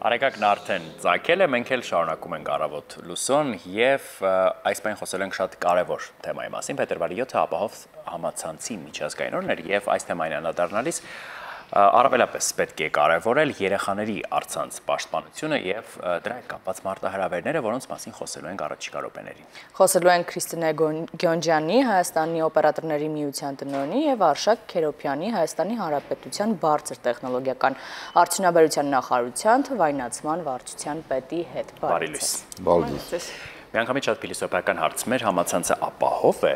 Արեգակն արդեն ծագել է, մենք էլ շարունակում ենք առավոտ լուսոն և այս պայն խոսել ենք շատ կարևոր թեմայի մասին, փետրվարի 7-ը ապահով համացանցի միջազգային օրն էր և այս թեմային անդրադառնալիս առավելապես պետք է կարևորել երեխաների առցանց պաշտպանությունը և դրա հետ կապված մարտահրավերները, որոնց մասին խոսելու ենք առաջիկա րոպեներին։ Խոսելու ենք Քրիստինե Գյոնջյանի, Հայաստանի օպերատորների միության տնօրենի և Արշակ Քերոփյանի, Հայաստանի Հանրապետության բարձր տեխնոլոգիական արդյունաբերության նախարարության թվայնացման վարչության պետի հետ։ Բարի լույս։ Միանգամից շատ փիլիսոփայական հարց, մեր համացանցը ապահով է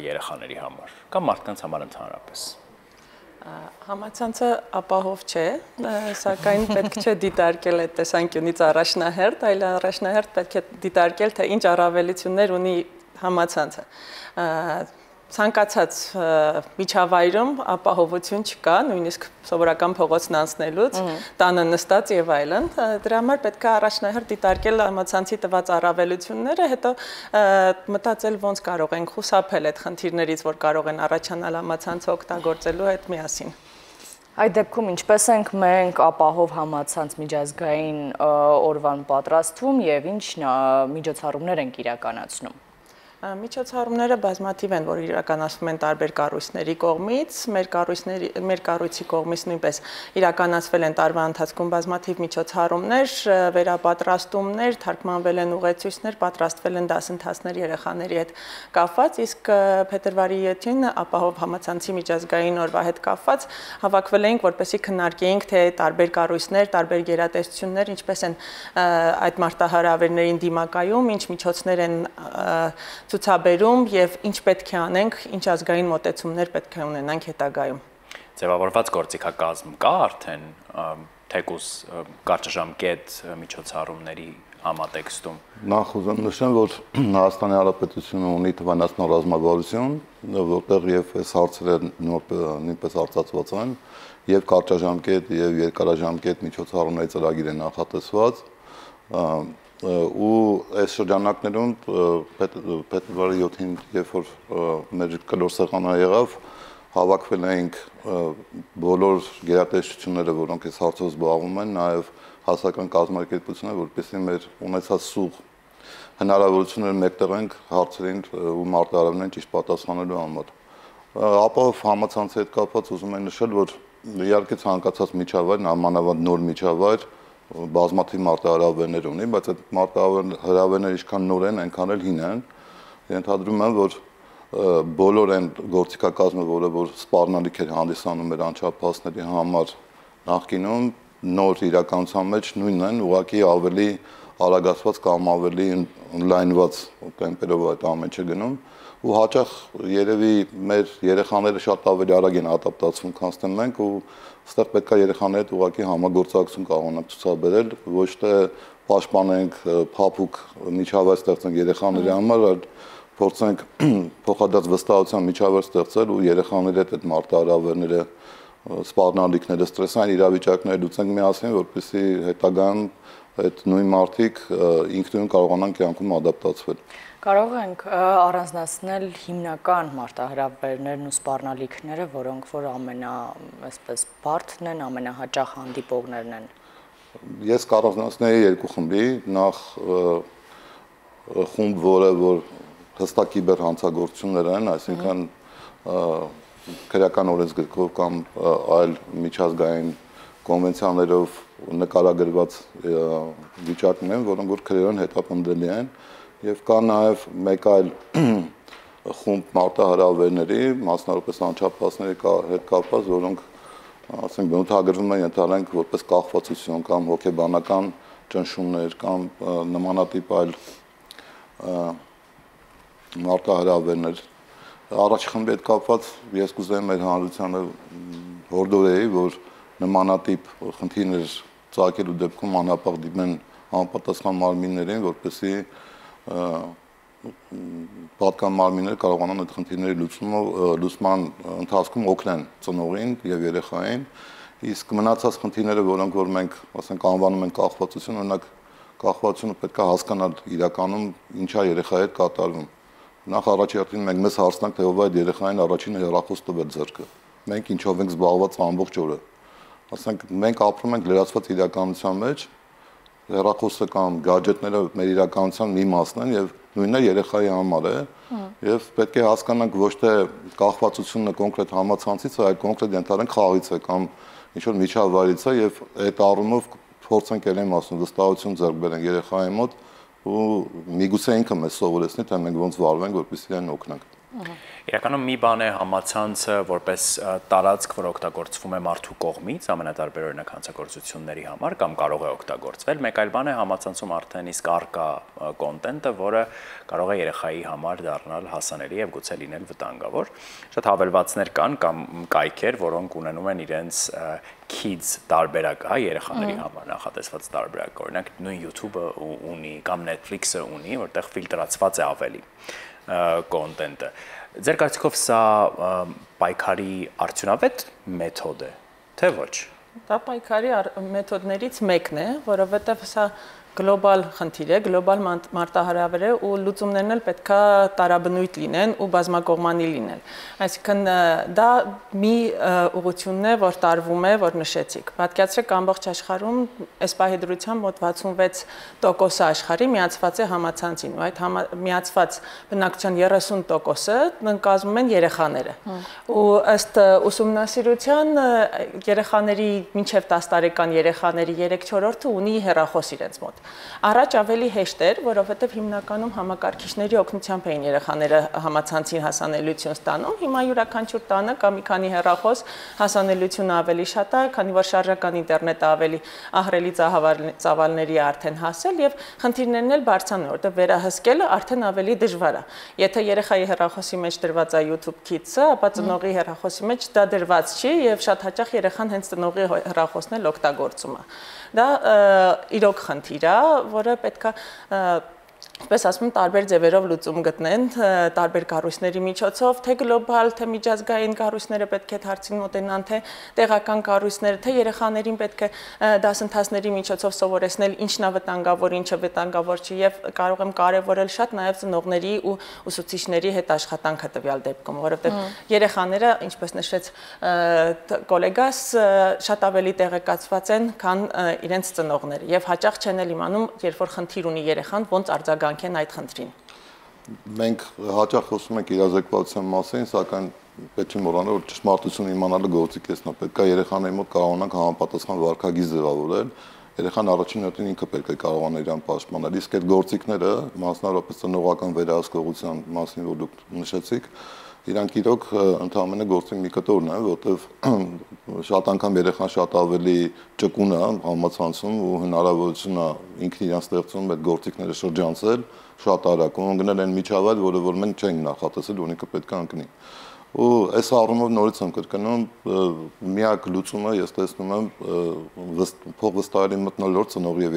երեխաների համար կամ մարդկանց համար ընդհանրապես։ Համացանցը ապահով չէ, սակայն պետք չէ դիտարկել այդ տեսանկյունից առաջնահերթ, այլ առաջնահերթ պետք է դիտարկել, թե ինչ առավելություններ ունի համացանցը։ Ցանկացած միջավայրում ապահովություն չկա, նույնիսկ սովորական փողոցն անցնելուց, տանը նստած եւ այլն։ Դրա համար պետք է առաջնահերթ դիտարկել համացանցի տված առավելությունները, հետո մտածել ոնց կարող ենք խուսափել այդ խնդիրներից, որ կարող են առաջանալ համացանցը օգտագործելու հետ միասին։ Այդ դեպքում ինչպես ենք մենք ապահով համացանց միջազգային օրվան պատրաստվում եւ ինչ միջոցառումներ ենք իրականացնում։ Միջոցառումները բազմաթիվ են, որ իրականացվում են տարբեր կառույցների կողմից, մեր կառույցի կողմից նույնպես իրականացվել են տարվա ընթացքում բազմաթիվ միջոցառումներ, վերապատրաստումներ, թարգմանվել են ուղեցույցներ, պատրաստվել են դասընթացներ երեխաների հետ կապված, իսկ փետրվարի 7-ին ապահով համացանցի միջազգային օրվա հետ կապված հավաքվել էինք, որպեսզի քննարկեինք, թե տարբեր կառույցներ, տարբեր գերատեսչություններ ինչպես են այդ մարտահրավերներին դիմակայում, ինչ միջոցներ են ցուցաբերում եւ ինչ պետք է անենք, ինչ ազգային մոտեցումներ պետք է ունենանք հետագայում։ Ձևավորված գործիքակազմ կա արդեն թեկուզ կարճաժամկետ միջոցառումների համատեքստում։ Նախ ուզում նշեմ, որ Հայաստանի Հանրապետությունը ունի թվայնացման ռազմավարություն, որտեղ եւ այս հարցերը նույնպես արծացված են, եւ կարճաժամկետ եւ երկարաժամկետ միջոցառումների ծրագիր է նախատեսված։ Ու այս շրջանակներում փետրվարի 7-ին, երբ որ մեր կլոր սեղանը եղավ, հավաքվել էինք բոլոր գերատեսչությունները, որոնք այս հարցով զբաղվում են, նաև հասարակական կազմակերպությունները, որպեսզի մեր ունեցած սուղ հնարավորությունները մեկտեղենք հարցերին ու մարտահրավերներին ճիշտ պատասխանելու համար։ Ապահով համացանցի հետ կապված ուզում եմ նշել, որ իհարկե ցանկացած միջավայր, նամանավանդ նոր միջավայր բազմաթիվ մարտահրավերներ ունի, բայց այդ մարտահրավերները ինչքան նոր են, այնքան էլ հին են։ Ենթադրում եմ, որ բոլոր այն գործիքակազմը, որ սպառնալիք էր հանդիսանում մեր անչափահասների համար նախկինում, նոր իրականության մեջ նույնն են, ուղղակի ավելի արագացված կամ ավելի օնլայնված տեմպերով այդ ամեն ինչը գնում ու հաճախ երևի մեր երեխաները շատ ավելի արագ են ադապտացվում, քան մենք ու այստեղ պետք է երեխաների հետ ուղղակի համագործակցություն կարողանանք ցուցաբերել, ոչ թե պաշտպանենք փափուկ միջավայր ստեղծենք երեխաների համար, այլ փորձենք փոխադարձ վստահության միջավայր ստեղծել ու երեխաների հետ այդ մարտահրավերները, սպառնալիքները, ստրեսային իրավիճակները լուծենք միասին, որպեսզի հետագայում այդ նույն մարդիկ ինքնուրույն կարողանան կյանքում ադապտացվել։ Կարող ենք առանձնացնել հիմնական մարտահրավերներն ու սպառնալիքները, որոնք որ այսպես բարդն են, ամենահաճախ հանդիպողներն են։ Ես կառանձնացնեի երկու խմբի, նախ խումբ, որ հստակ կիբեր հանցագործություններ են, այսինքն քրեական օրենսգրքով կամ այլ միջազգային կոնվենցիաներով նկարագրված վիճակներ են, որոնք որ քրեորեն հետապնդելի են, եւ կա նաեւ մեկ այլ խումբ մարտահրավերների, մասնավորապես անչափահասների հետ կապված, որոնք ասենք բնութագրվում են ենթադրենք որպես կախվածություն կամ հոգեբանական ճնշումներ կամ նմանատիպ այլ մարտահրավերներ։ Առաջի խմբի հետ կապված ես կուզեի մեր հանրությանը հորդորեի, որ նմանատիպ խնդիրներ ծագելու դեպքում անհապաղ դիմեն համապատասխան մարմիններին, որպեսզի պատկան մարմինները կարողանան այդ խնդիրների լուծման ընթացքում օգնեն ծնողին եւ երեխային, իսկ մնացած խնդիրները, որոնք որ մենք ասենք անվանում ենք կախվածություն, օրինակ կախվածությունը պետք է հասկանալ իրականում ինչա երեխայի հետ կատարվում։ Նախ առաջի հերթին մենք մեզ հարցնանք, թե ով է այդ երեխային առաջինը հեռախոս տվել ձեռքը։ Մենք ինչով ենք զբաղված ամբողջ օրը։ Ասենք մենք ապրում ենք լրացված իրականության մեջ, հեռախոսը կամ գadgetները մեր իրականության մի մասն են եւ նույնն է երեխայի համար է եւ պետք է հասկանանք ոչ թե կախվածությունը կոնկրետ համացանցից, այլ կոնկրետ ենթադրենք խաղից է կամ ինչ որ միջավայրից է եւ այդ առումով փորձենք ելեմ ասում վստահություն ձեռք բերենք երեխայի մոտ ու միգուցե ինքը մեզ սովորեցնի թե մենք ոնց վարվենք որպեսզի իրեն օգնենք Իրականում մի բան է համացանցը որպես տարածք, որ օգտագործվում է մարդու կողմից, ամենատարբեր օրինակ հանցագործությունների համար կամ կարող է օգտագործվել, մեկ այլ բան է համացանցում արդեն իսկ առկա կոնտենտը, որը կարող է երեխայի համար դառնալ հասանելի եւ գուցե լինել վտանգավոր։ Շատ հավելվածներ կան կամ կայքեր, որոնք ունենում են իրենց kids տարբերակ, հա, երեխաների համար նախատեսված տարբերակ, օրինակ նույն YouTube-ը ունի կամ Netflix-ը ունի, որտեղ ֆիլտրացված է ավելի կոնտենտը։ Ձեր կարծիքով սա պայքարի արդյունավետ մեթոդ է, թե ոչ։ Դա պայքարի մեթոդներից մեկն է, որովհետև սա գլոբալ խնդիր է, գլոբալ մարտահրավեր է ու լուծումներն էլ պետքա տարաբնույթ լինեն ու բազմակողմանի լինեն։ Այսինքն դա մի ուղղությունն է, որ տարվում է, որ նշեցիք։ Պատկերացրեք ամբողջ աշխարհում այս պահի դրությամբ մոտ 66% աշխարհի միացված է համացանցին, ու այդ միացված բնակչության 30%-ը կազմում են երեխաները։ Ու ըստ ուսումնասիրության երեխաների մինչև 10 տարեկան երեխաների 3/4-ը ունի հեռախոս իրենց մոտ։ Առաջ ավելի հեշտ էր, որովհետև հիմնականում համակարգիչների օգնությամբ էին երեխաները համացանցին հասանելիություն ստանում, հիմա յուրաքանչյուր տանը կա մի քանի հեռախոս, հասանելիությունը ավելի շատ է, քանի որ շարժական ինտերնետը ավելի ահռելի ծավալների արդեն հասել եւ խնդիրներն էլ բարձրանում, որտեղ վերահսկելը արդեն ավելի դժվար է։ Եթե երեխայի հեռախոսի մեջ դրված է YouTube Kids-ը, ապա ծնողի հեռախոսի մեջ դա դրված չի եւ շատ հաճախ երեխան հենց ծնողի հեռախոսն էլ օգտագործում է։ Դա իրոք խնդիր է, որը պետքա Պես ասում տարբեր ձևերով լուծում գտնեն, տարբեր կառույցների միջոցով, թե գլոբալ, թե միջազգային կառույցները պետք է հարցին մոտենան, թե տեղական կառույցները, թե երեխաներին պետք է դասընթացների միջոցով սովորեցնել ինչն է վտանգավոր, ինչը վտանգավոր չի եւ կարող եմ կարեւորել շատ նաեւ ծնողների ու ուսուցիչների հետ աշխատանքը տվյալ դեպքում, որովհետեւ երեխաները, ինչպես նշեց գոլեգաս, շատ ավելի տեղեկացված են, քան իրենց ծնողները եւ հաճախ չեն էլ իմանում, երբ որ խնդիր ունի երեխան, ոնց արձագանքեն այդ խնդրին։ Մենք հաճախ խոսում ենք իրազեկվածության մասին, սակայն պետք է մոռանալ, որ ճշմարտությունը իմանալը գործիք էսն է, պետք է երեխաների մոտ կարողանանք համապատասխան վարքագիծ ձևավորել, երեխան առաջին հերթին ինքը պետք է կարողանա իրան պաշտպանել, իսկ այդ գործիքները, մասնավորապես ծնողական վերահսկողության մասին, որ դուք նշեցիք, իրանք իրոք ընդհանրապես գործին մի կտորն է, որտեղ շատ անգամ երեխան շատ ավելի ճկուն է համացանցում ու հնարավորություն է ինքն իրան ստեղծում այդ գործիքները շրջանցել շատ արագ ու ընկնել այն միջավայր, որը որ մենք չենք նախատեսել, որ ինքը պետք է ընկնի։ Ու այս առումով նորից եմ կրկնում, միակ լուծումը ես տեսնում եմ փոխվստահելի մթնոլորտ ծնողի եւ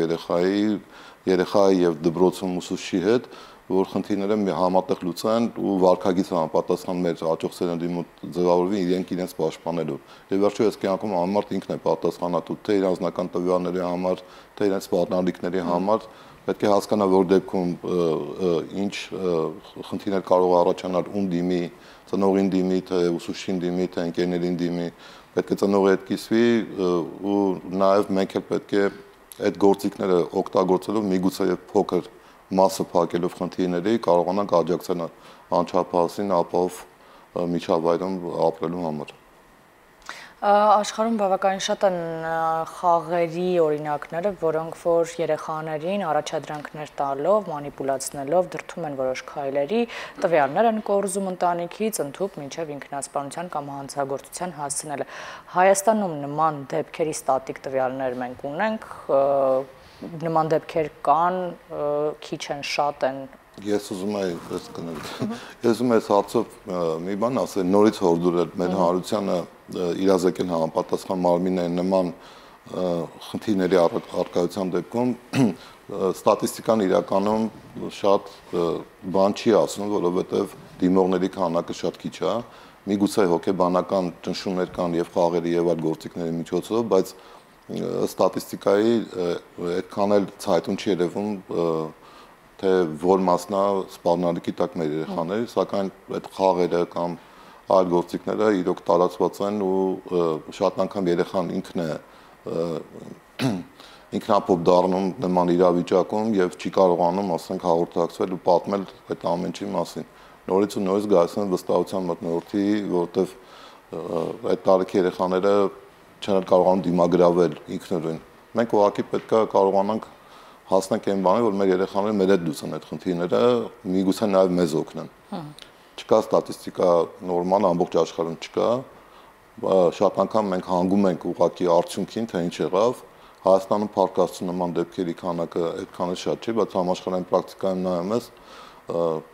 երեխայի եւ դպրոցում ուսուցչի հետ, որ խնդիրները համատեղ լուծեն ու վարքագիծը համապատասխան մեր հաջող սերնդի մոտ ձևավորվի իրենց պաշտպանելու։ Եվ վերջո այս կյանքում ամենամարդ ինքն է պատասխանատու թե իր անձնական տվյալների համար, թե իրենց սպառնալիքների համար, պետք է հասկանա, որ դեպքում ինչ խնդիրներ կարող առաջանալ ում դիմի, ծնողին դիմի, թե ուսուցչին դիմի, թե ընկերներին դիմի, պետք է ծնողի հետ կիսվի ու նաև մենք էլ պետք է այդ գործիքները օգտագործելով միգուցե եւ փոքր մասը փակելով խնդիրների կարողանանք աջակցել անչափահասին ապահով միջավայրում ապրելու համար։ Աշխարհում բավականին շատ են խաղերի օրինակները, որոնք որ երեխաներին առաջադրանքներ տալով, մանիպուլացնելով դրդում են որոշ քայլերի, տվյալներ են կորզում ընտանիքից, ընդհուպ մինչև ինքնասպանության կամ հանցագործության հասցնելը։ Հայաստանում նման դեպքերի ստատիկ տվյալներ մենք ունենք, նման դեպքեր կան, քիչ են, շատ են։ Ես ուզում եմ այս հարցով մի բան ասել, նորից հորդորել մեր հանրությանը իրազեկել համապատասխան մարմինների նման խնդիրների առկայության դեպքում ստատիստիկան իրականում շատ բան չի ասում, որովհետև դիմողների քանակը շատ քիչ է, միգուցե հոգեբանական ճնշումներ կան եւ խաղերի եւ այլ գործիքների միջոցով, բայց ստատիստիկայի այդքան էլ ցայտուն չի երևում թե որ մասնա սպառնալիքի տակ մեր երեխաները, սակայն այդ խաղերը կամ այլ գործիքները իրոք տարածված են ու շատ անգամ երեխան ինքն է ինքնափոփ դառնում նման իրավիճակում եւ չի կարողանում, ասենք, հաղորդակցվել ու պատմել այդ ամեն ինչի մասին։ Նորից ու նորից գալիս են վստահության մթնոլորտի, որովհետեւ այդ տարիքի երեխաները չեն կարողանում դիմագրավել ինքնուրույն։ Մենք ուղղակի պետք է կարողանանք հասնենք այն բանի, որ մեր երեխաները մեր հետ լուծեն այդ խնդիրները, միգուցե նաեւ մեզ օգնեն։ Չկա ստատիստիկա նորմալ ամբողջ աշխարհում չկա, շատ անգամ մենք հանգում ենք ուղղակի արդյունքին, թե ինչ եղավ։ Հայաստանում փառկաստու նման դեպքերի քանակը այդքան շատ չի, բայց համաշխարհային պրակտիկայում նայում ես,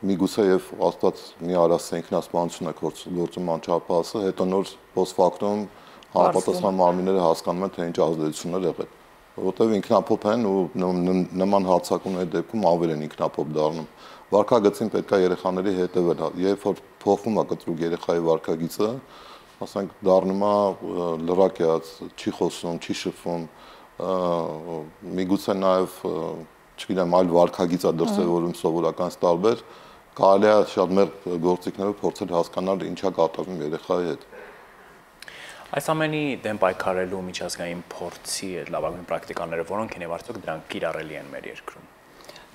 միգուցե եւ Աստված մի արասը ինքնասպանություն է գործում անչափահասը, հետո նոր post factum համապատասխան մարմինները հասկանում են, թե ինչ ազդեցություններ եղել, որովհետեւ ինքնափոփ են ու նման հարձակումների դեպքում ավել են ինքնափոփ դառնում։ Վարքագծին պետք է երեխաների հետևել, երբ որ փոխվում է կտրուկ երեխայի վարքագիծը, ասենք դառնում է լրակյաց, չի խոսում, չի շփվում, միգուցե նաև, չգիտեմ, այլ վարքագիծ է դրսևորում սովորականից տարբեր, կարելի է շատ մեր գործիքներով փորձել հասկանալ ինչա կատարվում երեխայի հետ։ Այս ամենի դեմ պայքարելու միջազգային փորձի այդ լավագույն պրակտիկաները որոնք են եւ արդյոք դրանք կիրառելի են մեր երկրում։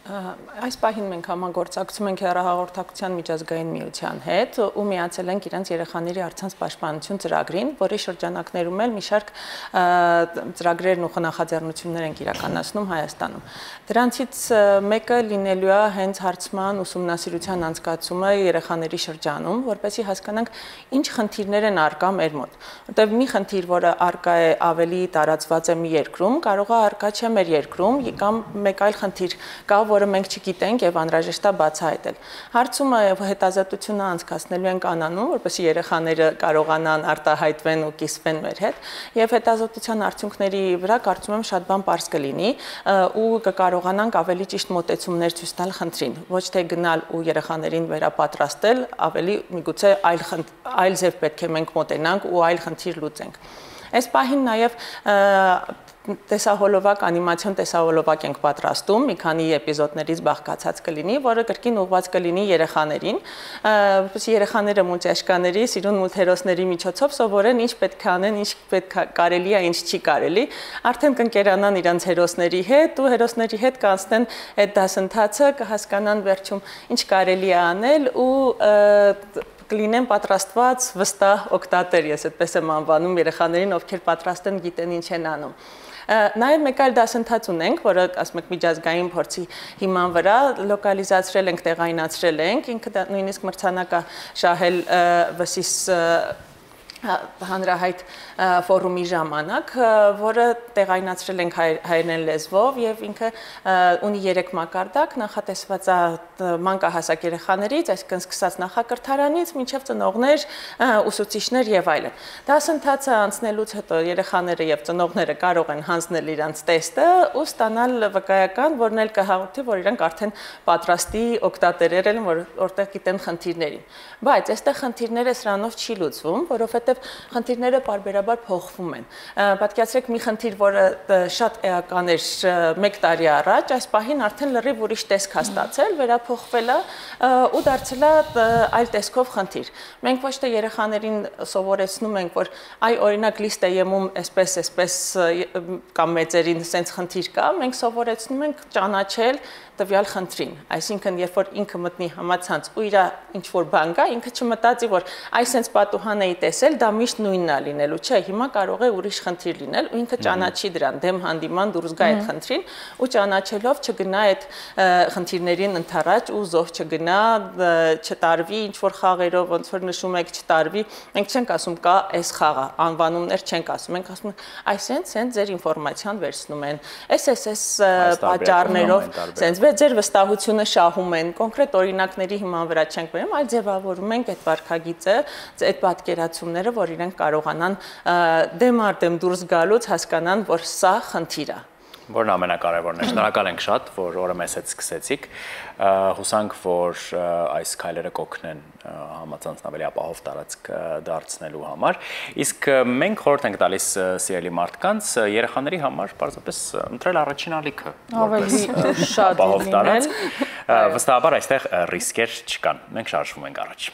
Այս պահին մենք համագործակցում ենք հեռահաղորդակցության միջազգային միության հետ ու միացել ենք իրենց երեխաների առցանց պաշտպանություն ծրագրին, որի շրջանակներում էլ մի շարք ծրագրերն ու նախաձեռնություններ ենք իրականացնում Հայաստանում։ Դրանցից մեկը լինելու է հենց հարցման ուսումնասիրության անցկացումը երեխաների շրջանում, որպեսզի հասկանանք ինչ խնդիրներ են առկա մեր մոտ, որտեղ մի խնդիր, որը առկա է ավելի տարածված է մի երկրում, կարող է առկա չէ մեր երկրում, կամ մեկ այլ խնդիր կա, որը մենք չգիտենք եւ անհրաժեշտ է բացահայտել։ Հարցումը եւ հետազոտությունը անցկացնելու ենք անանում, որպեսզի երեխաները կարողանան արտահայտվեն ու կիսվեն մեր հետ, եւ հետազոտության արդյունքների վրա կարծում եմ շատ բան պարզ կլինի ու կկարողանանք ավելի ճիշտ մոտեցումներ ցույց տալ խնդրին, ոչ թե գնալ ու երեխաներին վերապատրաստել, ավելի միգուցե այլ ձև պետք է մենք մոտենանք ու այլ խնդիր լուծենք։ Այս պահին նաև տեսահոլովակ, անիմացիոն տեսահոլովակ ենք պատրաստում, մի քանի էպիզոդներից բաղկացած կլինի, որը կրկին ուղղված կլինի երեխաներին, որպեսզի երեխաները մուլտիաշկաների, սիրուն մուլտհերոսների միջոցով սովորեն ինչ պետք է անեն, ինչ պետք է կարելի է, ինչ չի կարելի, արդեն կընկերանան իրենց հերոսների հետ ու հերոսների հետ կանցնեն այդ դասընթացը, կհասկանան վերջում ինչ կարելի է անել ու կլինեն պատրաստված վստահ օգտատեր, ես այդպես եմ անվանում երեխաներին, ովքեր պատրաստ են, գիտեն ինչ են անում։ Նաև մեկ այլ դասընթաց ունենք, որը ասում եք միջազգային փորձի հիման վրա լոկալիզացրել ենք, տեղայնացրել ենք, ինքը նույնիսկ մրցանակ է շահել ՎՍԻՍ հանրահայտ ֆորումի ժամանակ, որը տեղայնացրել ենք հայերեն լեզվով եւ ինքը ունի 3 մակարդակ, նախատեսված է մանկահասակ երեխաներից, այսինքն սկսած նախակրթարանից մինչև ծնողներ, ուսուցիչներ եւ այլն։ Դասընթացը անցնելուց հետո երեխաները եւ ծնողները կարող են հանձնել իրենց տեստը ու ստանալ վկայական, որն էլ կհաղորդի, որ իրենք արդեն պատրաստի օգտատերեր են, որտեղ գիտեն խնդիրներին։ Բայց այստեղ խնդիրները սրանով չի լուծվում, որովհետեւ խնդիրները պարբերաբար փոխվում են։ Պատկերացրեք մի խնդիր, որը շատ էական էր 1 տարի առաջ, այս պահին արդեն լրիվ ուրիշ տեսք է ստացել, վերափոխվել է ու դարձել է այլ տեսքով խնդիր։ Մենք ոչ թե երեխաներին սովորեցնում ենք, որ այ օրինակ լիստեյում այսպես կամ մեծերին sense խնդիր կա, մենք սովորեցնում ենք ճանաչել տվյալ խնդրին, այսինքն երբ որ ինքը մտնի համացանց ու իր ինչ որ բան կա, ինքը չմտածի, որ այս sense պատուհան էի տեսել, դա միշտ նույնն է լինելու, չէ, հիմա կարող է ուրիշ խնդիր լինել ու ինքը ճանաչի դրան, դեմ հանդիման դուրս գա այդ խնդրին ու ճանաչելով չգնա այդ խնդիրներին ընթառաջ ու զոհ չգնա, չտարվի ինչ որ խաղերով, ոնց որ նշում եք, չտարվի, մենք չենք ասում կա այս խաղը, անվանումներ չենք ասում, մենք ասում ենք այս sense ձեր ինֆորմացիան վերցնում են, այս պատճառներով, sense ձեր վստահությունը շահում են, կոնկրետ օրինակների հիման վրա չենք բերում, այլ ձևավորում ենք այդ վարքագիծը, այդ պատկերացումները, որ իրենք կարողանան դեմ առ դեմ դուրս գալուց հասկանան, որ սա խնդիր է։ Որն ամենակարևորն է, շնորհակալ ենք շատ, որ օրը մեզ հետ սկսեցիք, հուսանք, որ այս քայլերը կօգնեն համացանցն ավելի ապահով տարածք դարձնելու համար, իսկ մենք խորհուրդ ենք տալիս սիրելի մարդկանց երեխաների համար պարզապես ընտրել առաջին ալիքը, ավելի շատ ապահով տարածք, վստահաբար այստեղ ռիսկեր չկան, մենք շարժվում ենք առաջ։